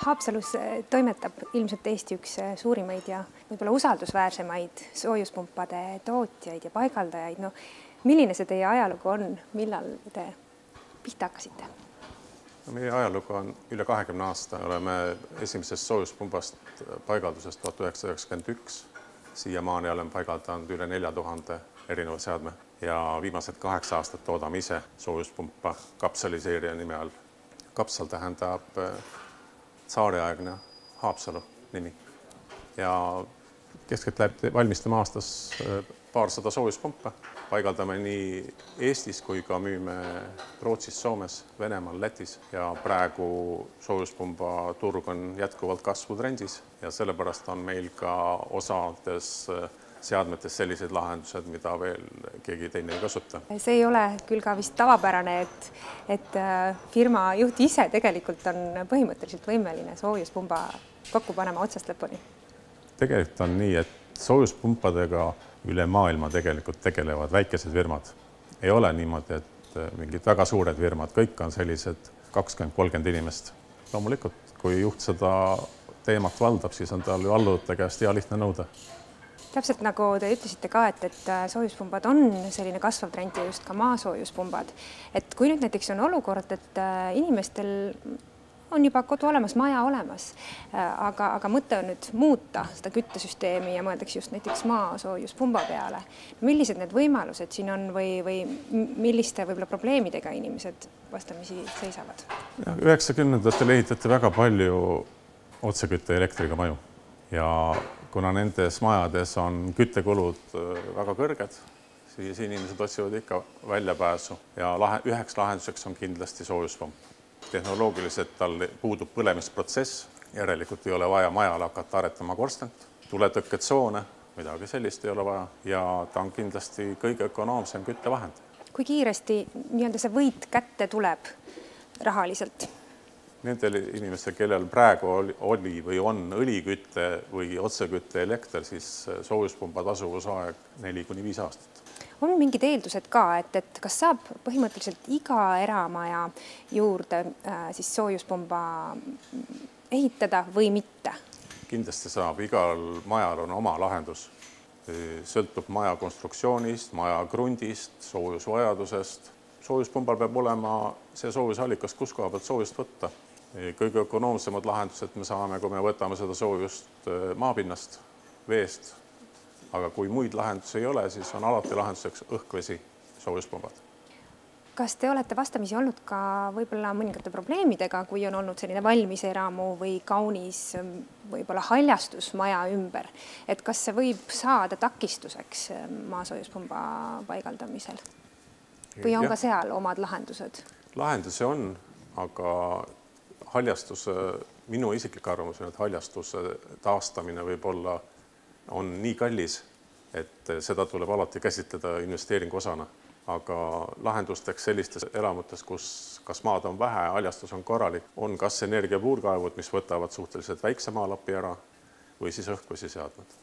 Haapsalus toimetab ilmselt Eesti üks suurimaid ja võib-olla usaldusväärsemaid soojuspumpade tootjaid ja paigaldajaid. No, milline see teie ajalugu on? Millal te pihta hakkasite? Meie ajalugu on üle 20 aasta. Oleme esimesest soojuspumbast paigaldusest 1991. Siiamaani olen paigaldanud üle 4000 erineva seadme ja viimased 8 aastat toodame ise soojuspumpa kapsaliseerija nime all. Kapsal tähendab tsaariaegne Haapsalu nimi ja keskeltläbi valmistame aastas paarsada soojuspumpa. Paigaldame nii Eestis kui ka müüme Rootsis, Soomes, Venemaal, Lätis ja praegu soojuspumba turg on jätkuvalt kasvutrendis ja sellepärast on meil ka osades seadmetes sellised lahendused, mida veel keegi teine ei kasuta. See ei ole küll ka vist tavapärane, et firma juht ise tegelikult on põhimõtteliselt võimeline soojuspumba kokku panema otsast lõpuni. Tegelikult on nii, et soojuspumpadega üle maailma tegelikult tegelevad väikesed firmad. Ei ole niimoodi, et mingid väga suured firmad, kõik on sellised 20-30 inimest. Loomulikult, kui juht seda teemat valdab, siis on tal ju alluvate käest hea lihtne nõuda. Täpselt nagu te ütlesite ka, et soojuspumbad on selline kasvav trend ja just ka maasoojuspumbad. Et kui nüüd näiteks on olukord, et inimestel on juba kodu olemas, maja olemas, aga mõte on nüüd muuta seda küttesüsteemi ja mõeldakse just näiteks maasoojuspumba peale. Millised need võimalused siin on või milliste võib-olla probleemidega inimesed vastamisi seisavad? 90-ndatel ehitati väga palju otsekütte elektriga maju ja kuna nendes majades on küttekulud väga kõrged, siis inimesed otsivad ikka väljapääsu ja üheks lahenduseks on kindlasti soojuspump. Tehnoloogiliselt tal puudub põlemisprotsess, järelikult ei ole vaja majale hakata aretama korstent, tuletõkketsoone, midagi sellist ei ole vaja ja ta on kindlasti kõige ökonoomsem küttevahend. Kui kiiresti see võit kätte tuleb rahaliselt? Nendel inimestel, kellel praegu oli või on õlikütte või otsekütte elekter, siis soojuspumba tasuvusaeg 4–5 aastat. On mingid eeldused ka, et kas saab põhimõtteliselt iga eramaja juurde siis soojuspumba ehitada või mitte? Kindlasti saab, igal majal on oma lahendus. Sõltub maja konstruktsioonist, maja krundist, soojusvajadusest. Soojuspumbal peab olema see soojusallikas, kus koha pealt soojust võtta. Kõige ökonoomsemad lahendused me saame, kui me võtame seda soojust maapinnast, veest. Aga kui muid lahendusi ei ole, siis on alati lahenduseks õhkvesi soojuspumbad. Kas te olete vastamisi olnud ka võib-olla mõningate probleemidega, kui on olnud selline valmis eramu või kaunis võib-olla haljastus maja ümber? Et kas see võib saada takistuseks maasoojuspumba paigaldamisel? Või on ka seal omad lahendused? Lahendusi on, aga haljastus, minu isiklik arvamus on, et haljastuse taastamine võib-olla on nii kallis, et seda tuleb alati käsitleda investeeringu osana. Aga lahendusteks sellistes elamutes, kus kas maad on vähe, haljastus on korralik, on kas energiapuurkaevud, mis võtavad suhteliselt väikse maalapi ära või siis õhkvesi seadmed.